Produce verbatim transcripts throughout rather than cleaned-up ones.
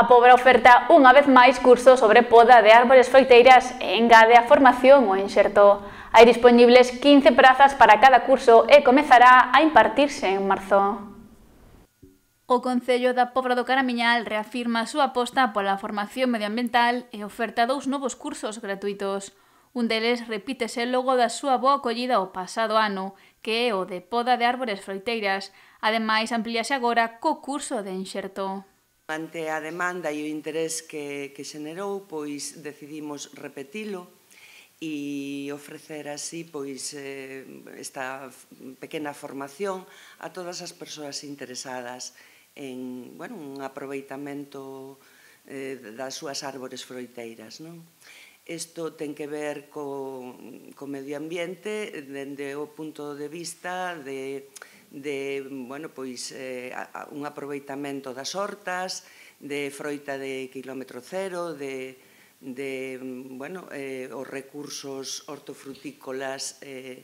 A Pobra oferta unha vez máis cursos sobre poda de árbores froiteiras e engade a formación o enxerto. Hai dispoñibles quince prazas para cada curso e comezará a impartirse en marzo. O Concello da Pobra do Caramiñal reafirma a súa aposta pola formación medioambiental e oferta dous novos cursos gratuitos. Un deles repítese logo da súa boa acollida o pasado ano, que é o de poda de árbores froiteiras. Ademais, amplíase agora co curso de enxerto. Ante a demanda e o interés que, que xenerou, pois decidimos repetilo e ofrecer así pois, eh, esta pequena formación a todas as persoas interesadas en bueno, un aproveitamento eh, das súas árbores froiteiras. Non? Isto ten que ver co, co medio ambiente dende o punto de vista de de bueno, pois, eh, un aproveitamento das hortas, de froita de quilómetro cero, de, de bueno, eh, os recursos hortofrutícolas eh,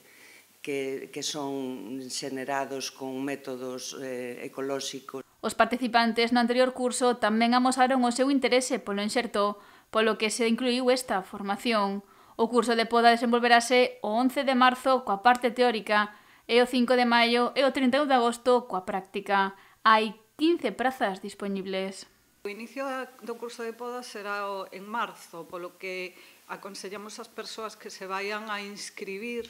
que, que son xenerados con métodos eh, ecolóxicos. Os participantes no anterior curso tamén amosaron o seu interese polo enxerto, polo que se incluíu esta formación. O curso de poda desenvolverase o once de marzo coa parte teórica e o cinco de maio e o trinta e un de agosto coa práctica. Hai quince prazas dispoñibles. O inicio do curso de poda será en marzo, polo que aconsellamos ás persoas que se vayan a inscribir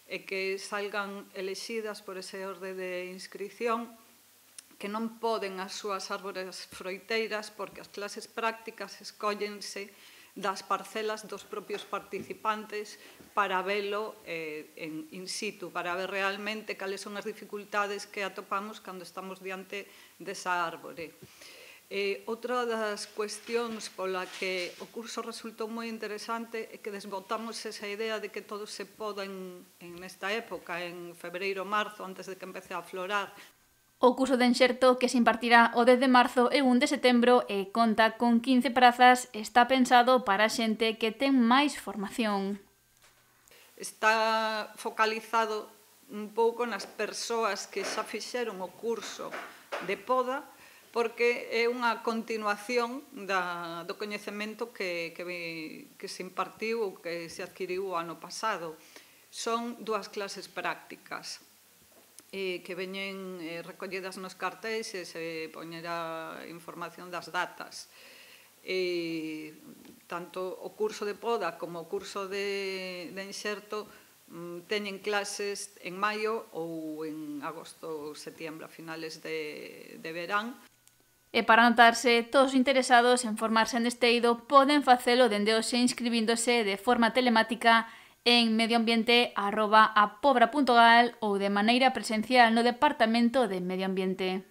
e que salgan elexidas por ese orde de inscripción que non poden as súas árbores froiteiras porque as clases prácticas escóllense das parcelas dos propios participantes para velo eh, en in situ, para ver realmente cales son as dificultades que atopamos cando estamos diante desa árbore. Eh, outra das cuestións pola que o curso resultou moi interesante é que desbotamos esa idea de que todo se poda en, en esta época, en febreiro, marzo, antes de que empece a florar. O curso de enxerto, que se impartirá o dez de marzo e o un de setembro e conta con quince prazas, está pensado para a xente que ten máis formación. Está focalizado un pouco nas persoas que xa fixeron o curso de poda, porque é unha continuación da, do coñecemento que, que, que se impartiu ou que se adquiriu o ano pasado. Son dúas clases prácticas eh, que veñen eh, recollidas nos cartéis e se poñerá información das datas. E, tanto o curso de poda como o curso de, de enxerto mm, teñen clases en maio ou en agosto ou setiembro, a finales de, de verán. E para anotarse, todos os interesados en formarse neste eido poden facelo dende hoxe inscribíndose de forma telemática en medioambiente arroba apobra punto gal ou de maneira presencial no Departamento de Medio Ambiente.